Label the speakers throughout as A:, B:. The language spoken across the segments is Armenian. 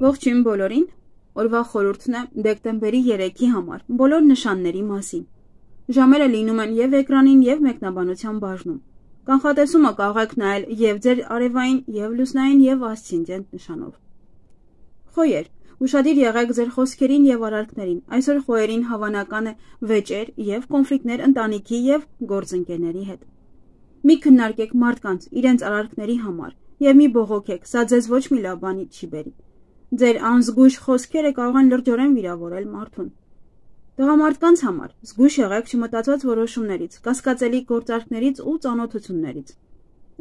A: Ողջույն բոլորին, օրվա խորհուրդն է դեկտեմբերի 3-ի համար, բոլոր նշանների մասին։ Ժամերը լինում են և էկրանին և մեկնաբանության բաժնում։ Կանխատեսումը կարող եք նայել և ձեր արևային, և լուսնային, և ասցենդենտ նշանով։ Խոյեր, ուշադիր եղեք ձեր խոսքերին և արարքներին, այսօր խոյերին հավանական է վեճեր և կոնֆլիկտներ ընտանիքի և գործընկերների հետ։ Մի քննարկեք մարդկանց, իրենց արարքների համար, և մի բողոքեք, սա ձեզ ոչ մի լավ բանի չի բերի։ Ձեր անզգույշ խոսքերը կարող են լրջորեն վիրավորել մարդուն։ Տղամարդկանց համար զգույշ եղեք չմտածված որոշումներից, կասկածելի գործարքներից ու ծանոթություններից։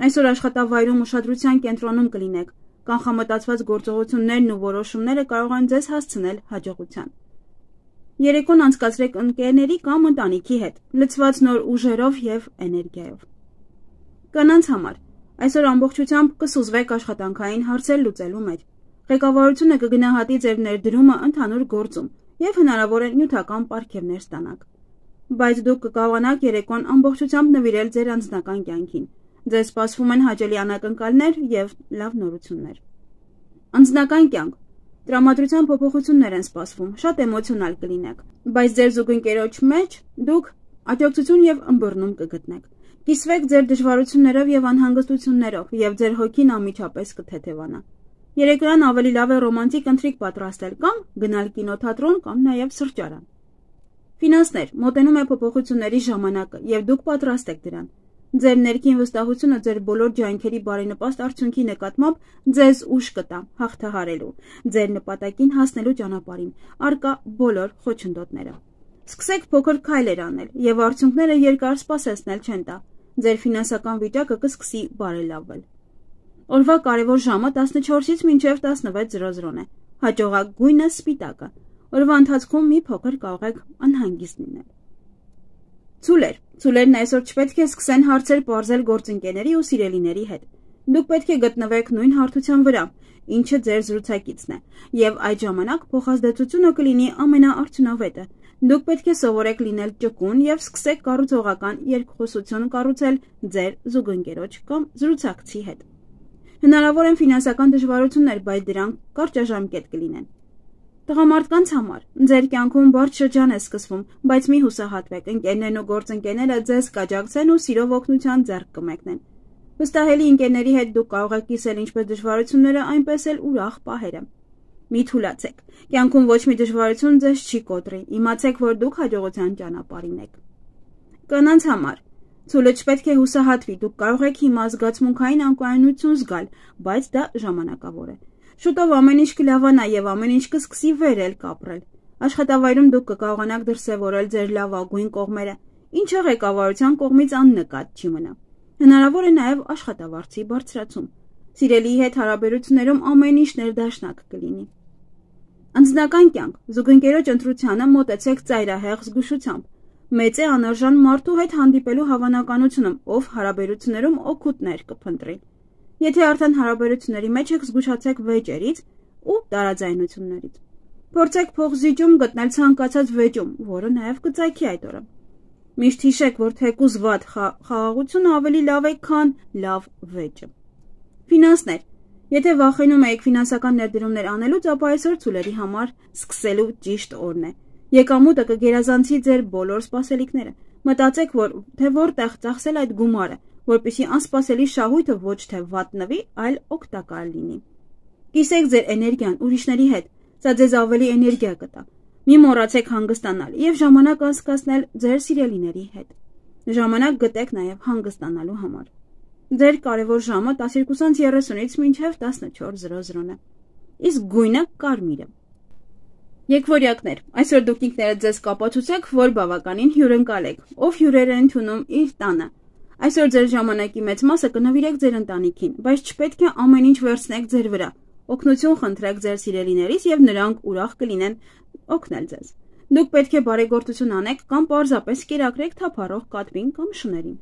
A: Այսօր աշխատավայրում ուշադրության կենտրոնում կլինեք, կանխամտածված գործողություններն ու որոշումները կարող են ձեզ հասցնել հաջողության։ Երեկոն անցկացրեք ընկերների կամ ընտանիքի հետ, լցված նոր ուժերով և էներգիայով։ Կանանց համար այսօր ամբողջությամբ կսուզվեք աշխատանքային հարցեր լուծելու մեջ։ Ղեկավարությունը կգնահատի ձեր ներդրումը ընդհանուր գործում և հնարավոր է նյութական պարգևներ ստանաք։ Բայց դուք կկարողանաք երեկոն ամբողջությամբ նվիրել ձեր անձնական կյանքին։ Ձեզ սպասվում են հաճելի անակնկալներ և լավ նորություններ։ Անձնական կյանք։ Տրամադրության փոփոխություններ են սպասվում, շատ էմոցիոնալ կլինեք, բայց ձեր զուգընկերոջ մեջ դուք աջակցություն և ըմբռնում կգտնեք։ Կիսվեք ձեր դժվարություններով և անհանգստություններով, և ձեր հոգին անմիջապես կթեթևանա։ Երեկոյան ավելի լավ է ռոմանտիկ ընթրիք պատրաստել կամ գնալ կինոթատրոն կամ նաև սրճարան։ Ֆինանսներ, մոտենում է փոփոխությունների ժամանակը, և դուք պատրաստ եք դրան։ Ձեր ներքին վստահությունը ձեր բոլոր ջանքերի բարենպաստ արդյունքի նկատմամբ ձեզ ուժ կտա հաղթահարելու ձեր նպատակին հասնելու ճանապարհին առկա բոլոր խոչընդոտները։ Սկսեք փոքր քայլեր անել, և արդյունքները երկար սպասեցնել չեն տա։ Ձեր ֆինանսական վիճակը կսկսի բարելավվել։ Օրվա կարևոր ժամը 14-ից մինչև 16:00 է։ Հաջողակ գույնը սպիտակը։ Օրվա ընթացքում մի փոքր կարող եք անհանգիստ լինել։ Ցուլեր։ Ցուլերն այսօր չպետք է սկսեն հարցեր պարզել գործընկերների ու սիրելիների հետ։ Դուք պետք է գտնվեք նույն հարթության վրա, ինչը ձեր զրուցակիցն է, և այդ ժամանակ փոխազդեցությունը կլինի ամենաարդյունավետը։ Դուք պետք է սովորեք լինել ճկուն և սկսեք կառուցողական երկխոսություն կառուցել ձեր զուգընկերոջ կամ զրուցակցի հետ։ Հնարավոր են ֆինանսական դժվարություններ, բայց դրանք կարճաժամկետ կլինեն։ Տղամարդկանց համար ձեր կյանքում բարդ շրջան է սկսվում, բայց մի հուսահատվեք, ընկերներն ու գործընկերները ձեզ կաջակցեն ու սիրով օգնության ձեռք կմեկնեն։ Վստահելի ընկերների հետ դուք կարող եք կիսել ինչպես դժվարությունները, այնպես էլ ուրախ պահերը։ Մի թուլացեք։ Կյանքում ոչ մի դժվարություն ձեզ չի կոտրի։ Իմացեք, որ դուք հաջողության ճանապարհին եք։ Կանանց համար ցուլը չպետք է հուսահատվի, դուք կարող եք հիմա զգացմունքային անկայունություն զգալ, բայց դա ժամանակավոր է։ Շուտով ամեն ինչ կլավանա և ամեն ինչ կսկսի վերել կապրել։ Աշխատավայրում դուք կկարողանաք դրսևորել ձեր լավագույն կողմերը, ինչը ղեկավարության կողմից աննկատ չի մնա։ Հնարավոր է նաև աշխատավարձի բարձրացում։ Սիրելիի հետ հարաբերություններում ամեն ինչ ներդաշնակ կլինի։ Անձնական կյանք։ Զուգընկերոջ ընտրությանը մոտեցեք ծայրահեղ զգուշությամբ։ Մեծ է անարժան մարդու հետ հանդիպելու հավանականությունը, ով հարաբերություններում օգուտներ կփնտրի։ Եթե արդեն հարաբերությունների մեջ եք, զգուշացեք վեճերից ու տարաձայնություններից։ Փորձեք փոխզիջում գտնել ցանկացած վեճում, որը նաև կծագի այդ օրը։ Միշտ հիշեք, որ թեկուզ վատ խաղաղությունը ավելի լավ է, քան լավ վեճը։ Ֆինանսներ։ Եթե վախենում եք ֆինանսական ներդրումներ անելուց, ապա այսօր ցուլերի համար սկսելու ճիշտ օրն է։ Եկամուտը կգերազանցի ձեր բոլոր սպասելիքները։ Մտածեք, թե որտեղ ծախսել այդ գումարը, որպեսզի անսպասելի շահույթը ոչ թե վատնվի, այլ օգտակար լինի։ Կիսեք ձեր էներգիան ուրիշների հետ, սա ձեզ ավելի էներգիա կտա։ Մի մոռացեք հանգստանալ և ժամանակ անցկացնել ձեր սիրելիների հետ։ Ժամանակ գտեք նաև հանգստանալու համար։ Ձեր կարևոր ժամը 12:30-ից մինչև 14:00 է։ Իսկ գույնը կարմիրը։ Եկվորյակներ, այսօր դուք ինքներդ ձեզ կապացուցեք, որ բավականին հյուրընկալ եք, ով հյուրեր է ընդունում իր տանը։ Այսօր ձեր ժամանակի մեծ մասը կնվիրեք ձեր ընտանիքին, բայց չպետք է ամեն ինչ վերցնեք ձեր վրա։ Օգնություն խնդրեք ձեր սիրելիներից և նրանք ուրախ կլինեն օգնել ձեզ։ Դուք պետք է բարեգործություն անեք կամ պարզապես կերակրեք թափառող կատվին կամ շներին։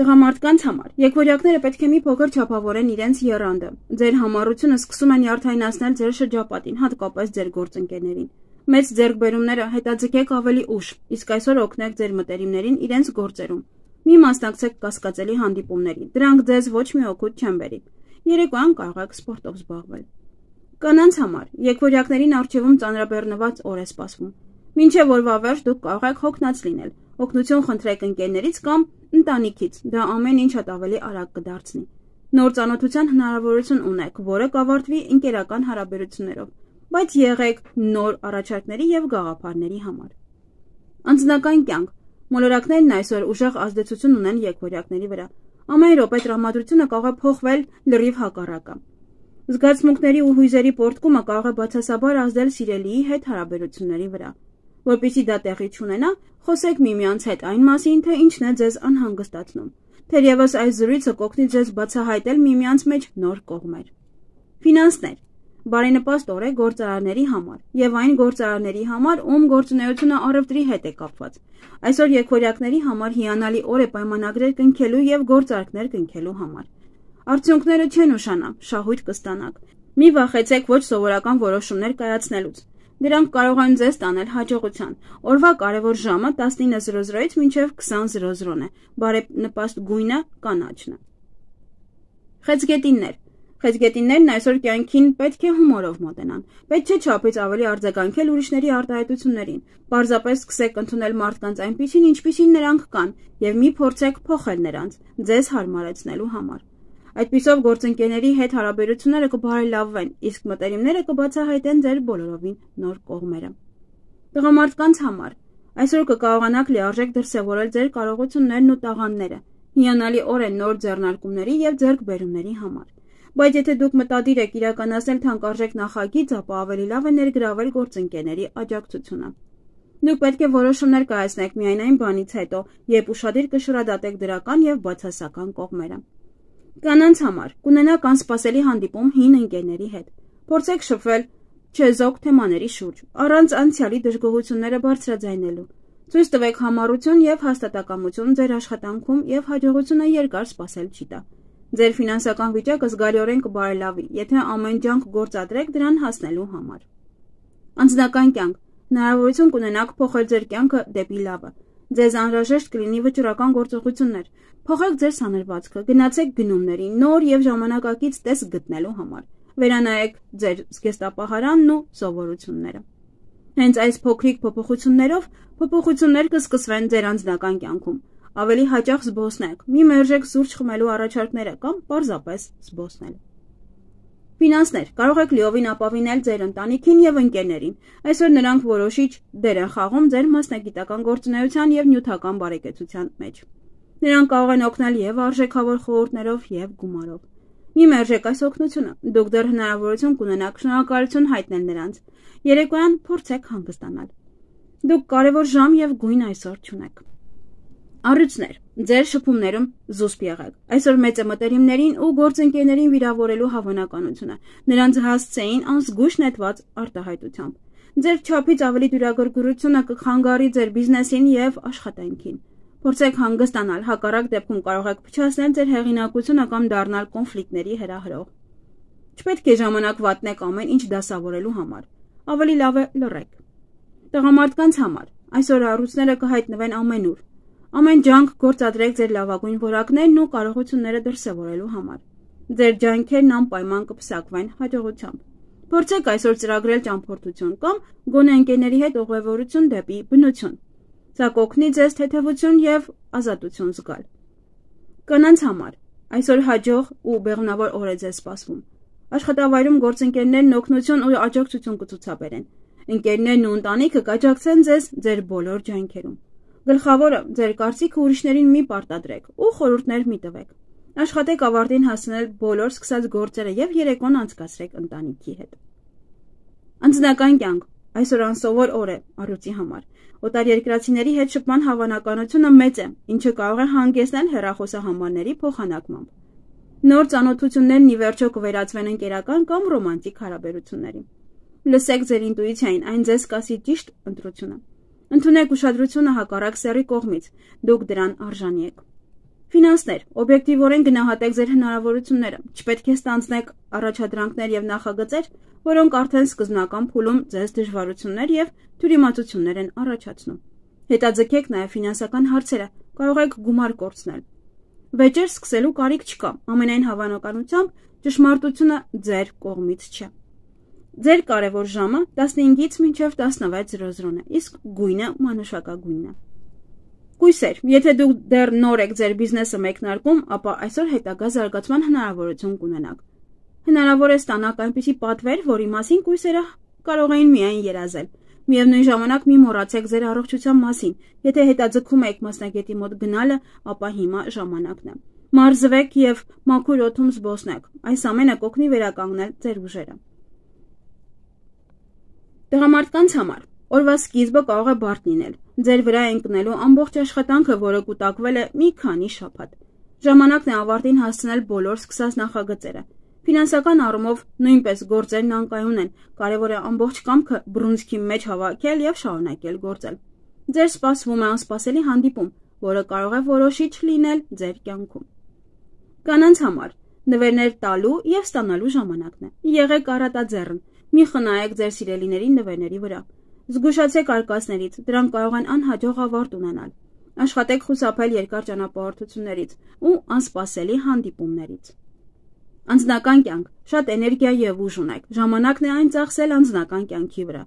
A: Տղամարդկանց համար եկվորյակները պետք է մի փոքր չափավորեն իրենց եռանդը։ Ձեր համառությունը սկսում են նյարդայնացնել ձեր շրջապատին, հատկապես ձեր գործընկերներին։ Մեծ ձեռքբերումները հետաձգեք ավելի ուշ, իսկ այսօր օգնեք ձեր մտերիմներին իրենց գործերում։ Մի մասնակցեք կասկածելի հանդիպումների, դրանք ձեզ ոչ մի օգուտ չեն բերի։ Երեկոյան կարող եք սպորտով զբաղվել։ Կանանց համար եկվորյակներին առջևում ծանրաբեռնված օր է սպասվում։ Մինչև օրվա վերջ դուք կարող եք հոգնած լինել, օգնություն խնդրեք ընկերներից կամ ընտանիքից, դա ամեն ինչ շատ ավելի արագ կդարձնի։ Նոր ծանոթության հնարավորություն ունեք, որը կավարտվի ընկերական հարաբերություններով, բայց եղեք նոր առաջարկների եւ գաղափարների համար։ Անձնական կյանք մոլորակներն այսօր ուժեղ ազդեցություն ունեն եկվորյակների վրա։ Ամեն րոպե տրամադրությունը կարող է փոխվել լրիվ հակառակը։ Զգացմունքների ու հույզերի պոռթկումը կարող է բացասաբար ազդել սիրելիի հետ հարաբերությունների վրա։ Որպեսզի դա տեղի չունենա, խոսեք միմյանց հետ այն մասին, թե ինչն է ձեզ անհանգստացնում։ Թերևս այս զրույցը կօգնի ձեզ բացահայտել միմյանց մեջ նոր կողմեր։ Ֆինանսներ բարենպաստ օր է գործարարների համար եւ այն գործարարների համար, ում գործունեությունը առևտրի հետ է կապված։ Այսօր եկվորյակների համար հիանալի օր է պայմանագրեր կնքելու եւ գործարքներ կնքելու համար։ Արդյունքները չեն ուշանա, շահույթ կստանաք։ Մի վախեցեք ոչ սովորական որոշումներ կայացնելուց։ Դրանք կարող են ձեզ տանել հաջողության։ Օրվա կարևոր ժամը 19:00-ից մինչև 20:00-ն է։ Բարենպաստ գույնը կանաչն է։ Խեցգետիններ Խեցգետիններն այսօր կյանքին պետք է հումորով մոտենան։ Պետք չէ չափից ավելի արձագանքել ուրիշների արտահայտություններին։ Պարզապես սկսեք ընդունել մարդկանց այնպիսին, ինչպիսին նրանք կան, եւ մի փորձեք փոխել նրանց, ձեզ հարմարեցնելու համար։ Այդպիսով գործընկերների հետ հարաբերությունները կբարելավվեն, իսկ մտերիմները կբացահայտեն ձեր բոլորովին նոր կողմերը։ Տղամարդկանց համար այսօր կկարողանաք լիարժեք դրսևորել ձեր կարողություններն ու տաղանդները։ Հիանալի օր է նոր ձեռնարկումների եւ ձեռքբերումների համար։ Բայց եթե դուք մտադիր եք իրականացնել թանկարժեք նախագիծ, ապա ավելի լավ է ներգրավել գործընկերների աջակցությունը։ Դուք պետք է որոշումներ կայացնեք միայն այն բանից հետո, երբ ուշադիր կշռադատեք դրական եւ բացասական կողմերը։ Կանանց համար կունենաք անսպասելի հանդիպում հին ընկերների հետ։ Փորձեք շփվել չեզոք թեմաների շուրջ, առանց անցյալի դժգոհությունները բարձրաձայնելու։ Ցույց տվեք համառություն եւ հաստատակամություն ձեր աշխատանքում եւ հաջողությունը երկար սպասել չի տա։ Ձեր ֆինանսական վիճակը զգալիորեն կբարելավի, եթե ամեն ջանք գործադրեք դրան հասնելու համար։ Անձնական կյանք հնարավորություն կունենաք փոխել ձեր կյանքը դեպի լավը։ Ձեզ անհրաժեշտ կլինի վճռական գործողություններ։ Փոխեք ձեր սանրվածքը, գնացեք գնումների, նոր եւ ժամանակակից տեսք գտնելու համար։ Վերանայեք ձեր զգեստապահարանն ու սովորությունները։ Հենց այս փոքրիկ փոփոխություններով փոփոխություններ կսկսվեն ձեր անձնական կյանքում։ Ավելի հաճախ զբոսնեք, մի մերժեք սուրճ խմելու առաջարկները կամ պարզապես զբոսնել։ Ֆինանսներ կարող եք լիովին ապավինել ձեր ընտանիքին եւ ընկերներին։ Այսօր նրանք որոշիչ դեր են խաղում ձեր մասնագիտական գործունեության եւ նյութական բարեկեցության մեջ։ Նրանք կարող են օգնել եւ արժեքավոր խորհուրդներով եւ գումարով։ Մի մերժեք այս օգնությունը, դուք դեռ հնարավորություն կունենաք շնորհակալություն հայտնել նրանց։ Երեկոյան փորձեք հանգստանալ։ Դուք կարևոր ժամ եւ գույն այսօր չունեք։ Առյուծներ, ձեր շփումներում զուսպ եղեք։ Այսօր մեծ է մտերիմներին ու գործընկերներին վիրավորելու հավանականությունը։ Նրանց հասցեին անզգույշ նետված արտահայտությամբ։ Ձեր չափից ավելի դյուրագրգռությունը կխանգարի ձեր բիզնեսին եւ աշխատանքին։ Փորձեք հանգստանալ, հակառակ դեպքում կարող եք փչացնել ձեր հեղինակությունը կամ դառնալ կոնֆլիկտների հրահրող։ Չպետք է ժամանակ վատնեք ամեն ինչ դասավորելու համար։ Ավելի լավ է լռեք։ Տղամարդկանց համար այսօր առյուծները կհայտնվեն ամենուր։ Ամեն ջանք գործադրեք ձեր լավագույն որակներն ու կարողությունները դրսևորելու համար։ Ձեր ջանքերն անպայման կպսակվեն հաջողությամբ։ Փորձեք այսօր ծրագրել ճամփորդություն կամ գոնե ընկերների հետ ուղևորություն դեպի բնություն։ Սա կօգնի ձեզ թեթևություն եւ ազատություն զգալ։ Կանանց համար այսօր հաջող ու բեղմնավոր օր է ձեզ սպասվում։ Աշխատավայրում գործընկերներն օգնություն ու աջակցություն կցուցաբերեն։ Ընկերներն ու ընտանիքը կաջակցեն ձեզ ձեր բոլոր ջանքերում։ Գլխավորը ձեր կարծիքը ուրիշներին մի պարտադրեք ու խորհուրդներ մի տվեք։ Աշխատեք ավարտին հասնել բոլոր սկսած գործերը եւ երեկոն անցկացրեք ընտանիքի հետ։ Անձնական կյանք այսօր անսովոր օր է առյուծի համար։ Օտարերկրացիների հետ շփման հավանականությունը մեծ է, ինչը կարող է հանգեցնել հեռախոսահամարների փոխանակմամբ։ Նոր ծանոթություններն ի վերջո կվերածվեն ընկերական կամ ռոմանտիկ հարաբերությունների։ Լսեք ձեր ինտուիցիային, այն ձեզ կասի ճիշտ ընտրությունը։ Ընդունեք ուշադրությունը հակառակ սեռի կողմից, դուք դրան արժանի եք։ Ֆինանսներ, օբյեկտիվորեն գնահատեք ձեր հնարավորությունները, չպետք է ստանձնեք առաջադրանքներ եւ նախագծեր, որոնք արդեն սկզբնական փուլում ձեզ դժվարություններ եւ թյուրիմացություններ են առաջացնում։ Հետաձգեք նաեւ ֆինանսական հարցերը, կարող եք գումար կորցնել։ Վեճեր սկսելու կարիք չկա, ամենայն հավանականությամբ ճշմարտությունը ձեր կողմից չէ։ Ձեր կարևոր ժամը 15-ից մինչև 16:00 է, իսկ գույնը մանուշակագույնն է։ Կույսեր, եթե դուք դեռ նոր եք ձեր բիզնեսը մեկնարկում, ապա այսօր հետագա զարգացման հնարավորություն կունենաք։ Հնարավոր է ստանաք այնպիսի պատվեր, որի մասին կույսերը կարող էին միայն երազել։ Միևնույն ժամանակ մի մոռացեք ձեր առողջության մասին։ Եթե հետաձգում եք մասնագետի մոտ գնալը, ապա հիմա ժամանակն է։ Մարզվեք եւ մաքուր օդում զբոսնեք։ Այս ամենը կօգնի վերականգնել ձեր ուժերը։ Տղամարդկանց համար օրվա սկիզբը կարող է բարդ լինել։ Ձեր վրա է ընկնելու ամբողջ աշխատանքը, որը կուտակվել է մի քանի շաբաթ։ Ժամանակն է ավարտին հասցնել բոլոր սկսած նախագծերը։ Ֆինանսական առումով նույնպես գործերն անկայուն են, կարևոր է ամբողջ կամքը բռունցքի մեջ հավաքել եւ շարունակել գործել։ Ձեր սպասվում է անսպասելի հանդիպում, որը կարող է որոշիչ լինել ձեր կյանքում։ Կանանց համար նվերներ տալու եւ ստանալու ժամանակն է։ Եղեք առատաձեռն, մի խնայեք ձեր սիրելիների նվերների վրա։ Զգուշացեք արկածներից, դրանք կարող են անհաջող ավարտ ունենալ։ Աշխատեք խուսափել երկար ճանապարհորդություններից ու անսպասելի հանդիպումներից։ Անձնական կյանք, շատ էներգիա եւ ուժ ունեք, ժամանակն է այն ծախսել անձնական կյանքի վրա։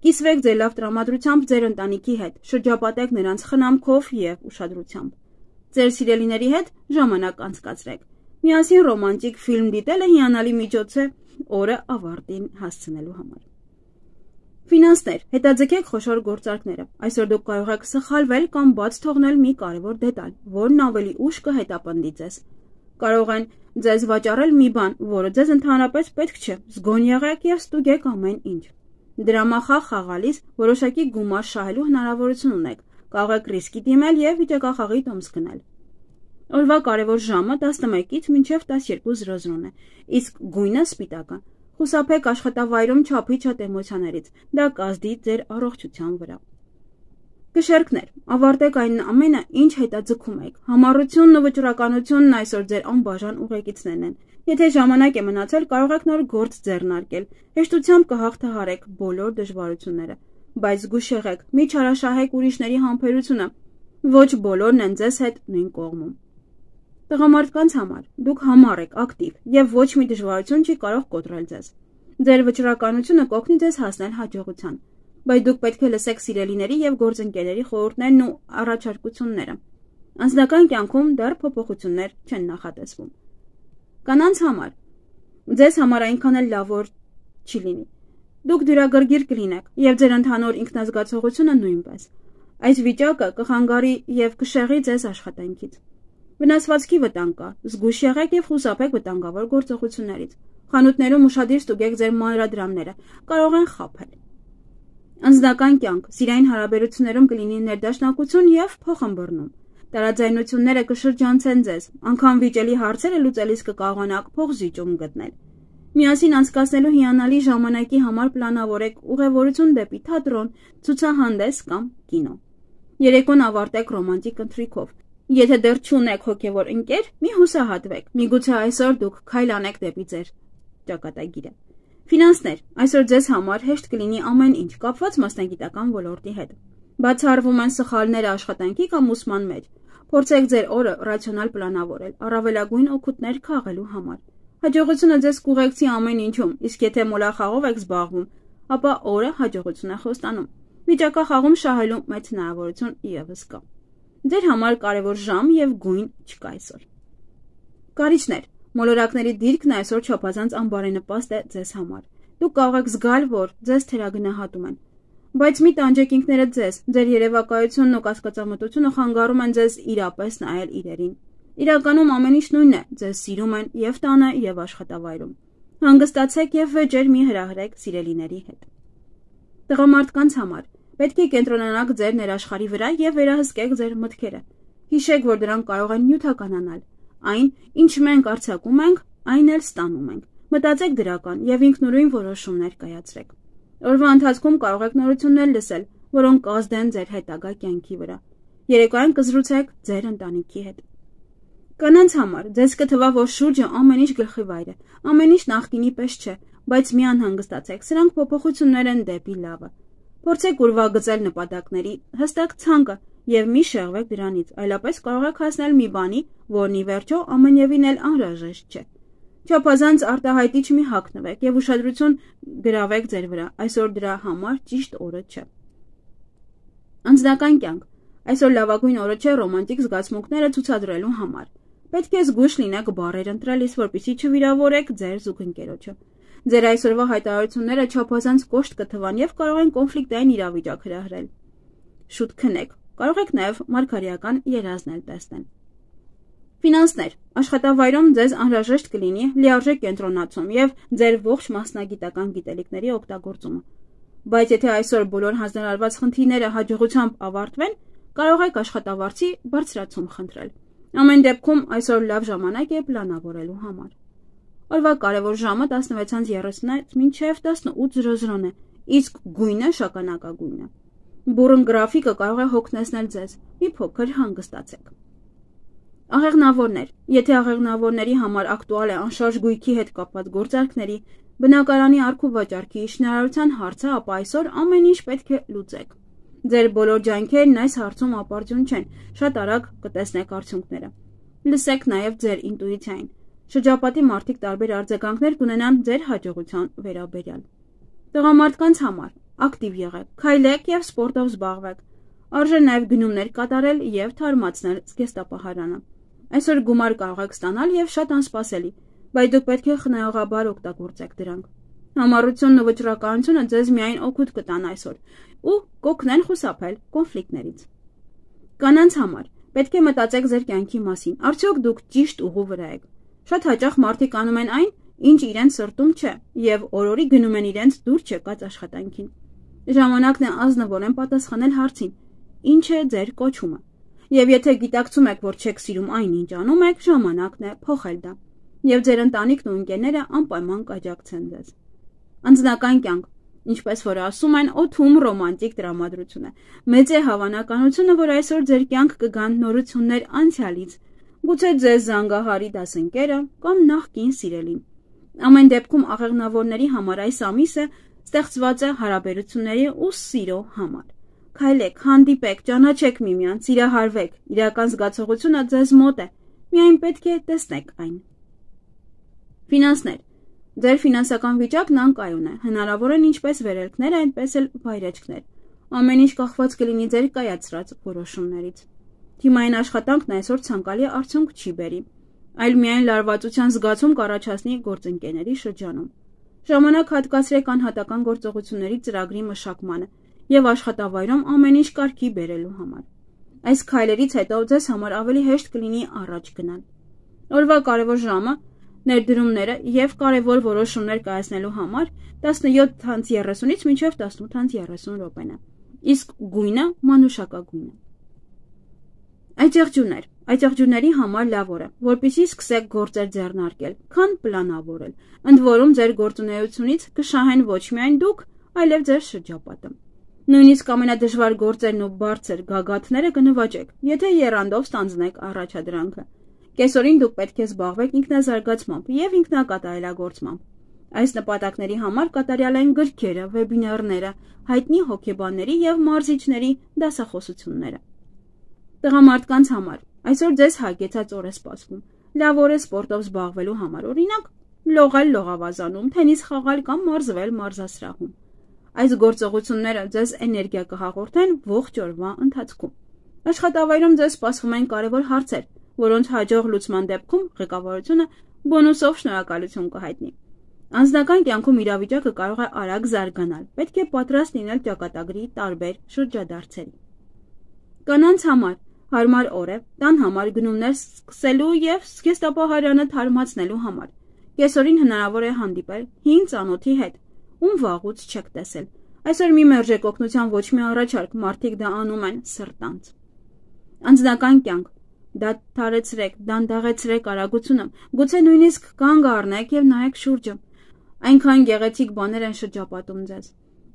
A: Կիսվեք ձեր լավ տրամադրությամբ ձեր ընտանիքի հետ, շրջապատեք նրանց խնամքով եւ ուշադրությամբ։ Ձեր սիրելիների հետ ժամանակ անցկացրեք։ Միասին ռոմանտիկ ֆիլմ դիտելը հիանալի միջոց է օրը ավարտին հասցնելու համար։ Ֆինանսներ, հետաձգեք խոշոր գործարքները։ Այսօր դուք կարող եք սխալվել կամ բաց թողնել մի կարևոր դետալ, որն ավելի ուշ կհետապնդի ձեզ։ Կարող են ձեզ վաճառել մի բան, որը ձեզ ընդհանրապես պետք չէ։ Զգոն եղեք եւ ստուգեք ամեն ինչ։ Դրամախաղ խաղալիս որոշակի գումար շահելու հնարավորություն ունեք։ Կարող եք ռիսկի դիմել եւ վիճակախաղի տոմս գնել։ Օրվա կարևոր ժամը 11-ից մինչև 12:00 է, իսկ գույնը սպիտակը։ Խուսափեք աշխատավայրում չափի շատ էմոցիաներից, դա կազդի ձեր առողջության վրա։ Կշերքներ, ավարտեք այն ամենը, ինչ հետաձգում եք։ Համառությունն ու վճռականությունն այսօր ձեր անբաժան ուղեկիցներն են։ Եթե ժամանակ է մնացել, կարող եք նոր գործ ձեռնարկել։ Հեշտությամբ կհաղթահարեք բոլոր դժվարությունները, բայց զգույշ եղեք, մի չարաշահեք ուրիշների համբերությունը։ Ոչ բոլորն են ձեզ հետ նույն կողմում։ Տղամարդկանց համար դուք համառ եք, ակտիվ եւ ոչ մի դժվարություն չի կարող կոտրել ձեզ։ Ձեր վճռականությունը կօգնի ձեզ հասնել հաջողության, բայց դուք պետք է լսեք սիրելիների եւ գործընկերների խորհուրդներն ու առաջարկությունները։ Անձնական կյանքում դեռ փոփոխություններ չեն նախատեսվում։ Կանանց համար ձեզ համար այնքան էլ լավ օր չի լինի։ Դուք դյուրագրգիռ կլինեք եւ ձեր ընդհանուր ինքնազգացողությունը նույնպես։ Այս վիճակը կխանգարի եւ կշեղի ձեզ աշխատանքից։ Վնասվածքի վտանգ կա, զգույշ եղեք եւ խուսափեք վտանգավոր գործողություններից։ Խանութներում ուշադիր ստուգեք ձեր մանրադրամները, կարող են խաբել։ Անձնական կյանք, սիրային հարաբերություններում կլինի ներդաշնակություն եւ փոխըմբռնում։ Տարաձայնությունները կշրջանցեն ձեզ, անգամ վիճելի հարցերը լուծելիս կկարողանաք փոխզիջում գտնել։ Միասին անցկացնելու հիանալի ժամանակի համար պլանավորեք ուղևորություն դեպի թատրոն, ցուցահանդես կամ կինո։ Երեկոն ավարտեք ռոմանտիկ ընթրիքով։ Եթե դեռ չունեք հոգևոր ընկեր, մի հուսահատվեք, միգուցե այսօր դուք քայլ անեք դեպի ձեր ճակատագիրը։ Ֆինանսներ, այսօր ձեզ համար հեշտ կլինի ամեն ինչ կապված մասնագիտական ոլորտի հետ։ Բացառվում են սխալները աշխատանքի կամ ուսման մեջ։ Փորձեք ձեր օրը ռացիոնալ պլանավորել, առավելագույն օգուտներ քաղելու համար։ Հաջողությունը ձեզ կուղեկցի ամեն ինչում, իսկ եթե մոլախաղով եք զբաղվում, ապա օրը հաջողություն է խոստանում։ Վիճակախաղում շահելու մեծ հնարավորություն ևս կա։ Ձեր համար կարևոր ժամ եւ գույն չկա այսօր։ Կարիճներ, մոլորակների դիրքն այսօր չափազանց անբարենպաստ է ձեզ համար։ Դուք կարող եք զգալ, որ ձեզ թերագնահատում են։ Բայց մի տանջեք ինքներդ ձեզ, ձեր երևակայությունն ու կասկածամտությունը խանգարում են ձեզ իրապես նայել իրերին։ Իրականում ամեն ինչ նույնն է, ձեզ սիրում են եւ տանը եւ աշխատավայրում։ Հանգստացեք եւ վեճեր մի հրահրեք սիրելիների հետ։ Տղամարդկանց համար պետք է կենտրոնանաք ձեր ներաշխարի վրա եւ վերահսկեք ձեր մտքերը։ Հիշեք, որ դրանք կարող են նյութականանալ։ Այն, ինչ մենք արձակում ենք, այն էլ ստանում ենք։ Մտածեք դրական եւ ինքնուրույն որոշումներ կայացրեք։ Օրվա ընթացքում կարող եք նորություններ լսել, որոնք կազդեն ձեր հետագա կյանքի վրա։ Երեկոյան կզրուցեք ձեր ընտանիքի հետ։ Կանանց համար ձեզ կթվա, որ շուրջը ամեն ինչ գլխիվայր է, ամեն ինչ նախկինի պես չէ, բայց մի անհանգստացեք, սրանք փոփոխություններ են դեպի լավը։ Փորձեք ուրվագծել նպատակների հստակ ցանկը եւ մի շեղվեք դրանից, այլապես կարող եք հասնել մի բանի, որն ի վերջո ամենևին էլ անհրաժեշտ չէ։ Չափազանց արտահայտիչ մի հագնվեք եւ ուշադրություն գրավեք ձեր վրա, այսօր դրա համար ճիշտ օրը չէ։ Անձնական կյանք։ Այսօր լավագույն օրը չէ ռոմանտիկ զգացմունքները ցուցադրելու համար։ Պետք է զգույշ լինեք բառեր ընտրելիս, որպեսզի չվիրավորեք ձեր զուգընկերոջը։ Ձեր այսօրվա հայտարարությունները չափազանց կոշտ կթվան եւ կարող են կոնֆլիկտային իրավիճակ հրահրել։ Շուտ քնեք, կարող եք նաեւ մարգարեական երազներ տեսնել։ Ֆինանսներ։ Աշխատավայրում ձեզ անհրաժեշտ կլինի լիարժեք կենտրոնացում եւ ձեր ողջ մասնագիտական գիտելիքների օգտագործումը։ Բայց եթե այսօր բոլոր հանձնարարված խնդիրները հաջողությամբ ավարտվեն, կարող եք աշխատավարձի բարձրացում խնդրել։ Ամեն դեպքում այսօր լավ ժամանակ է պլանավորելու համար։ Օրվա կարևոր ժամը 16:30-ից մինչև 18:00 է, իսկ գույնը շագանակագույն է։ Բուրըն գրաֆիկը կարող է հոգնեցնել ձեզ, մի փոքր հանգստացեք։ Աղեղնավորներ։ Եթե աղեղնավորների համար ակտուալ է անշարժ գույքի հետ կապված գործարքների, բնակարանի առք ու վաճառքի շինարարության հարցը, ապա այսօր ամեն ինչ պետք է լուծեք։ Ձեր բոլոր ջանքերն այս հարցում ապարդյուն չեն, շատ արագ կտեսնեք արդյունքները։ Լսեք նաև ձեր ինտուիցիային։ Շրջապատի մարդիկ տարբեր արձագանքներ կունենան ձեր հաջողության վերաբերյալ։ Տղամարդկանց համար ակտիվ եղեք, քայլեք եւ սպորտով զբաղվեք։ Արժե նաև գնումներ կատարել եւ թարմացնել զգեստապահարանը։ Այսօր գումար կարող եք ստանալ եւ շատ անսպասելի, բայց դուք պետք է խնայողաբար օգտագործեք դրանք։ Համառությունն ու վճռականությունը ձեզ միայն օգուտ կտան այսօր ու կօգնեն խուսափել կոնֆլիկտներից։ Կանանց համար պետք է մտածեք ձեր կյանքի մասին, արդյոք դուք ճիշտ ուղու վրա եք։ Շատ հաճախ մարդիկ անում են այն, ինչ իրենց սրտում չէ, եւ օրորի գնում են իրենց դուր չեկած աշխատանքին։ Ժամանակն է ազնվորեն պատասխանել հարցին. ինչ է ձեր կոչումը։ Եվ եթե գիտակցում եք, որ չեք սիրում այն, ինչ անում եք, ժամանակն է փոխել դա։ Եվ ձեր ընտանիքն ու ընկերները անպայման կաջակցեն ձեզ։ Անձնական կյանք։ Ինչպես որ ասում են, օդում ռոմանտիկ տրամադրություն է։ Մեծ է հավանականությունը, որ այսօր ձեր կյանք կգան նորություններ անցյալից, գուցե ձեզ զանգահարի դասընկերը կամ նախկին սիրելին։ Ամեն դեպքում աղեղնավորների համար այս ամիսը ստեղծված է հարաբերությունների ու սիրո համար։ Քայլեք, հանդիպեք, ճանաչեք միմյանց, սիրահարվեք, իրական զգացողությունը ձեզ մոտ է, միայն պետք է տեսնեք այն։ Ֆինանսներ։ Ձեր ֆինանսական վիճակն անկայուն է, հնարավոր են ինչպես վերելքներ, այնպես էլ վայրեջքներ։ Ամեն ինչ կախված կլինի ձեր կայացրած որոշումներից։ Թիմային աշխատանքն այսօր ցանկալի արդյունք չի բերի, այլ միայն լարվածության զգացում կառաջացնի գործընկերների շրջանում։ Ժամանակ հատկացրեք անհատական գործողությունների ծրագրի մշակմանը եւ աշխատավայրում ամեն ինչ կարգի բերելու համար։ Այս քայլերից հետո ձեզ համար ավելի հեշտ կլինի առաջ գնալ։ Օրվա կարևոր ժամը ներդրումները եւ կարևոր որոշումներ կայացնելու համար 17:30-ից մինչև 18:30 րոպեն է, իսկ գույնը մանուշակագույն է։ Այծեղջյուրներ։ Այծեղջյուրների համար լավ օր է, որպեսզի սկսեք գործեր ձեռնարկել, քան պլանավորել։ Ընդ որում ձեր գործունեությունից կշահեն ոչ միայն դուք, այլև ձեր շրջապատը։ Նույնիսկ ամենադժվար գործերն ու բարձր գագաթները կնվաճեք, եթե եռանդով ստանձնեք առաջադրանքը։ Կեսօրին դուք պետք է զբաղվեք ինքնազարգացմամբ եւ ինքնակատարելագործմամբ։ Այս նպատակների համար կատարյալ են գրքերը, վեբինարները, հայտնի հոգեբանների եւ մարզիչների դասախոսությունները։ Տղամարդկանց համար այսօր ձեզ հագեցած օր է սպասվում։ Լավ օր է սպորտով զբաղվելու համար, օրինակ լողալ լողավազանում, թենիս խաղալ կամ մարզվել մարզասրահում։ Այս գործողությունները ձեզ էներգիա կհաղորդեն ողջ օրվա ընթացքում։ Աշխատավայրում ձեզ սպասվում են կարևոր հարցեր, որոնց հաջող լուծման դեպքում ղեկավարությունը բոնուսով շնորհակալություն կհայտնի։ Անձնական կյանքում իրավիճակը կարող է արագ զարգանալ, պետք է պատրաստ լինել ճակատագրի տարբեր շրջադարձերի։ Կանանց համար հարմար օր է տան համար գնումներ սկսելու եւ զգեստապահարանը թարմացնելու համար։ Կեսօրին հնարավոր է հանդիպել հին ծանոթի հետ, ում վաղուց չեք տեսել։ Այսօր մի մերժեք օգնության ոչ մի առաջարկ, մարդիկ դա անում են սրտանց։ Անձնական կյանք։ Դադարեցրեք, դանդաղեցրեք արագությունը, գուցե նույնիսկ կանգ առնեք եւ նայեք շուրջը։ Այնքան գեղեցիկ բաներ են շրջապատում ձեզ։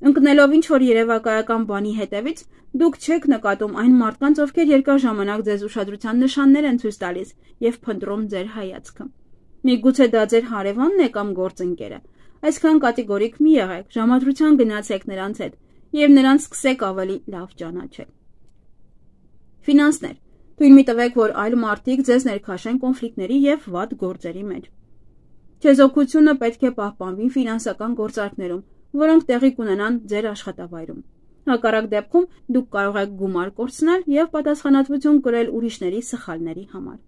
A: Ընկնելով ինչ-որ երևակայական բանի հետևից, դուք չեք նկատում այն մարդկանց, ովքեր երկար ժամանակ ձեզ ուշադրության նշաններ են ցույց տալիս եւ փնտրում ձեր հայացքը։ Միգուցե դա ձեր հարևանն է կամ գործընկերը։ Այսքան կատեգորիկ մի եղեք, ժամադրության գնացեք նրանց հետ եւ նրանց սկսեք ավելի լավ ճանաչել։ Ֆինանսներ։ Թույլ մի տվեք, որ այլ մարդիկ ձեզ ներքաշեն կոնֆլիկտների եւ վատ գործերի մեջ։ Չեզոքությունը պետք է պահպանվի ֆինանսական գործարքներում, որոնք տեղի կունենան ձեր աշխատավայրում։ Հակառակ դեպքում դուք կարող եք գումար կորցնել եւ պատասխանատվություն կրել ուրիշների սխալների համար։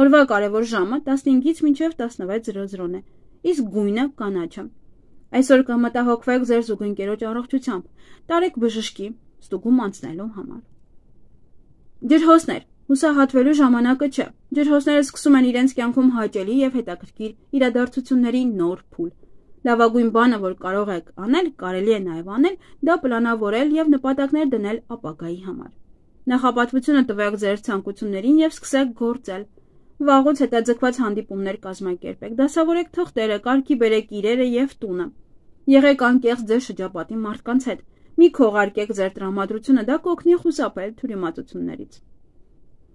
A: Օրվա կարևոր ժամը 15-ից մինչև 16:00 է, իսկ գույնը կանաչը։ Այսօր կմտահոգվեք ձեր զուգընկերոջ առողջությամբ, տարեք բժշկի ստուգում անցնելու համար։ Ջրհոսներ, հուսահատվելու ժամանակը չէ։ Ջրհոսները սկսում են իրենց կյանքում հաճելի եւ հետաքրքիր իրադարձությունների նոր փուլ։ Լավագույն բանը, որ կարող եք անել, կարելի է նաև անել, դա պլանավորել եւ նպատակներ դնել ապագայի համար։ Նախապատվությունը տվեք ձեր ցանկություններին եւ սկսեք գործել։ Վաղուց հետաձգված հանդիպումներ կազմակերպեք, դասավորեք թղթերը, կարգի բերեք իրերը եւ տունը։ Եղեք անկեղծ ձեր շրջապատի մարդկանց հետ։ Մի քողարկեք ձեր տրամադրությունը, դա կօգնի խուսափել թյուրիմացություններից։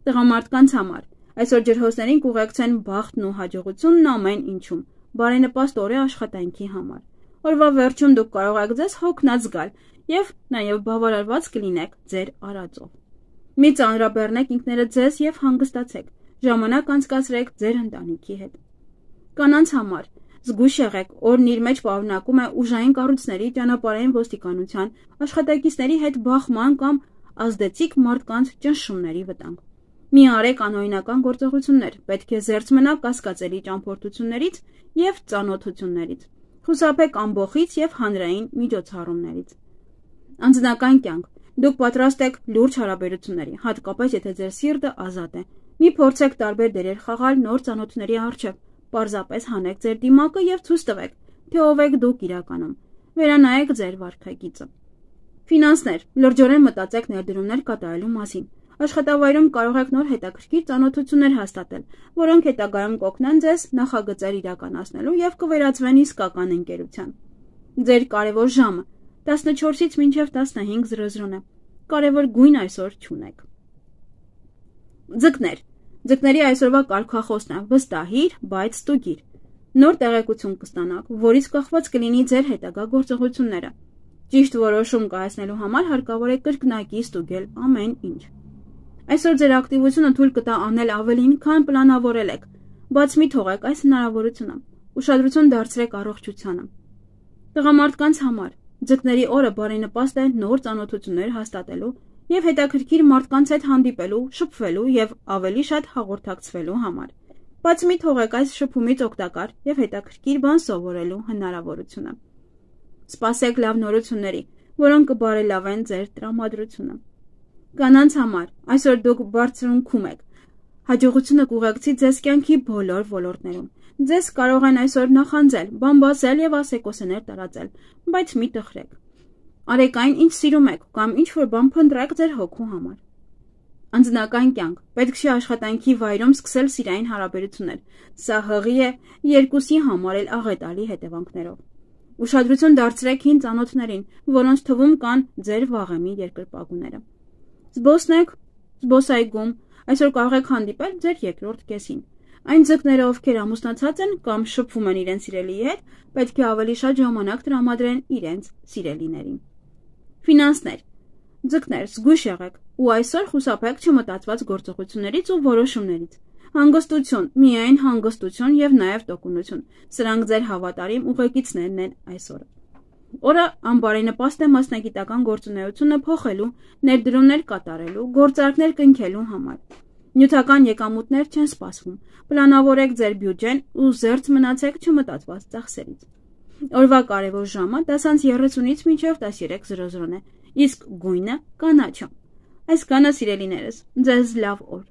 A: Տղամարդկանց համար այսօր ջրհոսներին կուղեկցեն բախտն ու հաջողությունն ամեն ինչում։ Բարենպաստ օր է աշխատանքի համար։ Օրվա վերջում դուք կարող եք ձեզ հոգնած զգալ եւ նաեւ բավարարված կլինեք ձեր արածով։ Մի ծանրաբեռնեք ինքներդ ձեզ եւ հանգստացեք։ Ժամանակ անցկացրեք ձեր ընտանիքի հետ։ Կանանց համար զգույշ եղեք, օրն իր մեջ պարունակում է ուժային կառույցների, ճանապարհային ոստիկանության, աշխատակիցների հետ բախման կամ ազդեցիկ մարդկանց ճնշումների վտանգ։ Մի արեք անօրինական գործողություններ, պետք է զերծ մնաք կասկածելի ճամփորդություններից եւ ծանոթություններից։ Խուսափեք ամբոխից եւ հանրային միջոցառումներից։ Անձնական կյանք։ Դուք պատրաստ եք լուրջ հարաբերությունների, հատկապես եթե ձեր սիրտը ազատ է։ Մի փորձեք տարբեր դերեր խաղալ նոր ծանոթների առջև։ Պարզապես հանեք ձեր դիմակը եւ ցույց տվեք, թե ով եք դուք իրականում։ Վերանայեք ձեր վարքագիծը։ Ֆինանսներ։ Լրջորեն մտածեք ներդրումներ կատարելու մասին։ Աշխատավայրում կարող եք նոր հետաքրքիր ծանոթություններ հաստատել, որոնք հետագայում կօգնեն ձեզ նախագծեր իրականացնելու եւ կվերածվեն իսկական ընկերության։ Ձեր կարևոր ժամը 14-ից մինչև 15:00 է։ Կարևոր գույն այսօր չունեք։ Ձկներ։ Ձկների այսօրվա կարգախոսն է՝ վստահիր, բայց ստուգիր։ Նոր տեղեկություն կստանաք, որից կախված կլինի ձեր հետագա գործողությունները։ Ճիշտ որոշում կայացնելու համար հարկավոր է կրկնակի ստուգել ամեն ինչ։ Այսօր ձեր ակտիվությունը թույլ կտա անել ավելին, քան պլանավորել եք, բայց մի թողեք այս հնարավորությունը։ Ուշադրություն դարձրեք առողջությանը։ Տղամարդկանց համար ձկների օրը բարենպաստ է նոր ծանոթություններ հաստատելու եւ հետաքրքիր մարդկանց հետ հանդիպելու, շփվելու եւ ավելի շատ հաղորդակցվելու համար։ Բայց մի թողեք այս շփումից օգտակար եւ հետաքրքիր բան սովորելու հնարավորությունը։ Սպասեք լավ նորությունների, որոնք կբարելավեն ձեր տրամադրությունը։ Կանանց համար այսօր դուք բարձրունքում եք։ Հաջողությունը կուղեկցի ձեզ կյանքի բոլոր ոլորտներում։ Ձեզ կարող են այսօր նախանձել, բամբասել եւ ասեկոսներ տարածել, բայց մի տխրեք։ Արեք այն, ինչ սիրում եք, կամ ինչ որ բան փնտրեք ձեր հոգու համար։ Անձնական կյանք։ Պետք չէ աշխատանքի վայրում սկսել սիրային հարաբերություններ։ Սա հղի է երկուսի համար էլ աղետալի հետևանքներով։ Ուշադրություն դարձրեք հին ծանոթներին, որոնց թվում կան ձեր վաղեմի երկրպագուները։ Զբոսնեք զբոսայգում, այսօր կարող եք հանդիպել ձեր երկրորդ կեսին։ Այն ձկները, ովքեր ամուսնացած են կամ շփվում են իրենց սիրելիի հետ, պետք է ավելի շատ ժամանակ տրամադրեն իրենց սիրելիներին։ Ֆինանսներ։ Ձկներ, զգույշ եղեք ու այսօր խուսափեք չմտածված գործողություններից ու որոշումներից։ Հանգստություն, միայն հանգստություն եւ նաեւ տոկունություն։ Սրանք ձեր հավատարիմ ուղեկիցներն են այսօր։ Օրը անբարենպաստ է մասնագիտական գործունեությունը փոխելու, ներդրումներ կատարելու, գործարքներ կնքելու համար։ Նյութական եկամուտներ չեն սպասվում։ Պլանավորեք ձեր բյուջեն ու զերծ մնացեք չմտածված ծախսերից։ Օրվա կարևոր ժամը 10:30-ից մինչև 13:00 է, իսկ գույնը կանաչը։ Այսքանը սիրելիներս, ձեզ լավ օր։